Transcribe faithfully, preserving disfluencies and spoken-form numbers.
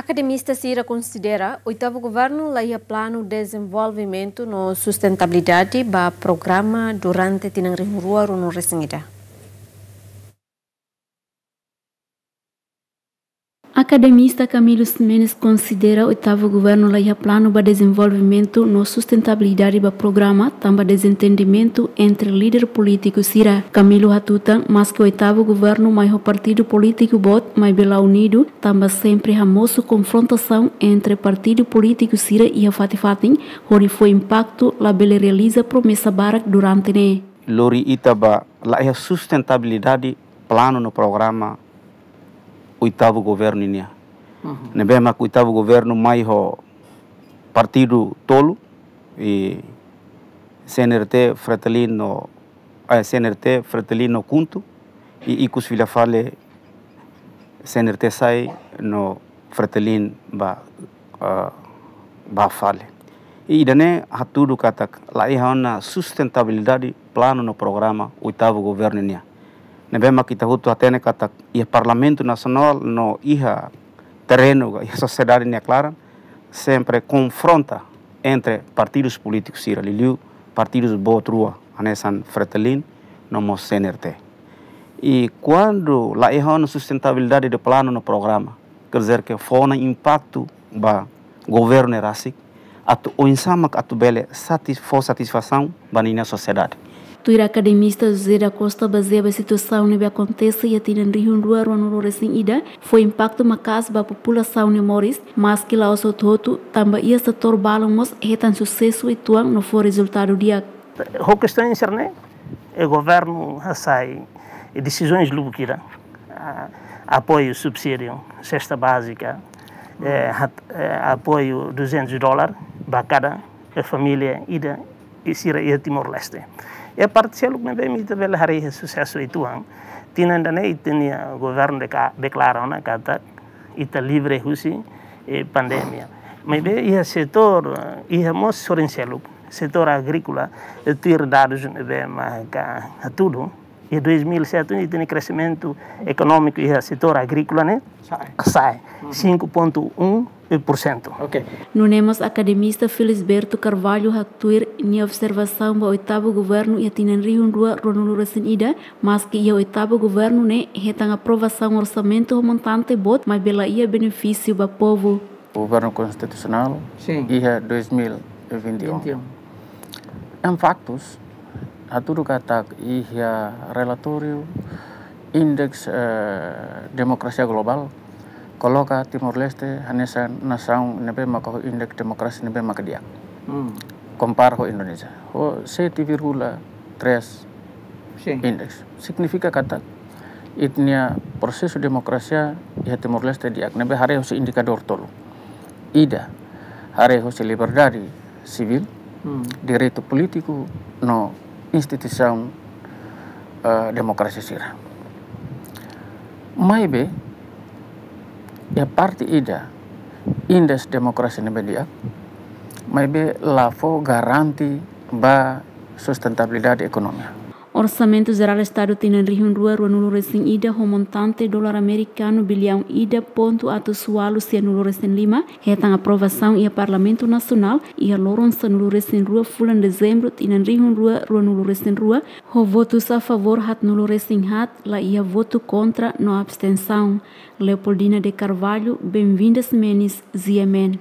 Akademista sira konsidera oitavu governu la iha planu dezenvolvimentu no sustentabilidade ba programa durante tinan rihun rua ruanulu resin ida. Akademista Camilo Ximenes konsidera oitavu governu la iha planu ba dezenvolvimentu no sustentabilidade ba programa, tanba dezentendimentu entre líder polítiku sira. Camilo hatutan, maski oitavu governu mai ho partidu polítiku boot, maibé la unidu, tanba sempre hamosu konfrontasaun entre partidu polítiku sira iha fatin-fatin, hodi fó impaktu, labele realiza promesa barak durante ne'e. Lori ita ba la iha sustentabilidade planu no programa oitavu governu nian. Mhm. Ne'ebé mak oitavu governu mai ho partidu tolu, i C N R T, Fretilin no, eh, C N R T, Fretilin no KHUNTO, i ikus fila fali C N R T sai no Fretilin ba, eh, ba fali. I ida-ne'e hatudu katak la iha ona sustentabilidade planu no programa oitavu governu nian. Ne'ebé mak ita hotu hatene katak iha Parlamentu Nasionál no iha terrenu, iha sosiedade nia klaran, sempre konfronta entre partidus polítikus sira, liuliu partidus boot rua, hanesan Fretilin no mós C N R T. I kuandu la iha ona sustentabilidade de planu no programa, quer dizer que fó ona impaktu ba governu ne'e rasik, atu oinsá mak atu bele satis-, fó satisfasaun ba ninia sosiedade. Tuir akademista José da Costa, bazeia ba situasaun ne'ebé akontese iha tinan rihun rua ruanulu resin ida, fó impaktu maka'as ba populasaun nia moris, maski la'ós hotu-hotu, tanba iha setór balun mós hetan susesu uitoan no fó rezultadu di'ak. Ho kestaun sira-ne'e, e governu hasai, e desizaun lubuk ida, a, apoiu subsídiu, sesta bázika, e, hat-, e, apoiu duzentus dólar ba kada, e, família ida, i sira iha Timor-Leste. E parte seluk ne'ebé ita bele haree susesu uitoan. Tinan ida-ne'e ita-nia governu deka-, deklara ona katak ita livre husi, e, pandemia. Maibé iha setór, e, iha mós sorin seluk, setór agríkola, e, tuir dadus ne'ebé maka hatudu, iha dois mil e sete ita-nia kreximentu ekonómiku iha setór agríkola ne'e sa'e. Sa'e. Mhm. Cinco ponto um por cento. Ok. Nune'e mós akademista Felisberto Carvalho haktuir nia observasaun ba oitavu governu iha tinan rihun rua ruanulu resin ida, maski iha oitavu governu ne'e hetan aprovasaun orsamentu ho montante boot, maibé la iha benefísiu ba povu. Governu konstitusionál, sin, iha dois mil e vinte e um. Vinte e um. Em faktus, hatudu katak iha relatóriu Indeks, eh, Demokrasia Globál, koloka Timor-Leste hanesan nasaun ne'ebé maka ho indeks demokrasia ne'ebé maka di'ak. Hmm. Kompara ho Indonézia. Ho sete vírgula três, sin, indeks. Signifika katak ita-nia prosesu demokrasia iha Timor-Leste di'ak, ne'ebé haree husi indikadór tolu. Ida, haree husi liberdade sivíl, hmm, direitu polítiku no instituisaun, eh, demokrasia sira. Maibé, iha parte ida, indeks demokrasia ne'ebé di'ak, maibé la fó garante ba sustentabilidade ekonomia. Orsamentu Jerál Estadu tinan rihun rua ruanulu resin ida ho montante dolar amerikanu biliaun ida pontu atus ualu sianulu resin lima, hetan aprovasaun iha Parlamentu Nasionál iha loron sanulu resin rua fulan Dezembru tinan rihun rua ruanulu resin rua, ho votus a favór haatnulu resin haat, la iha votu kontra no abstensaun. Leopoldina de Carvalho, Benvinda Ximenes, G M N.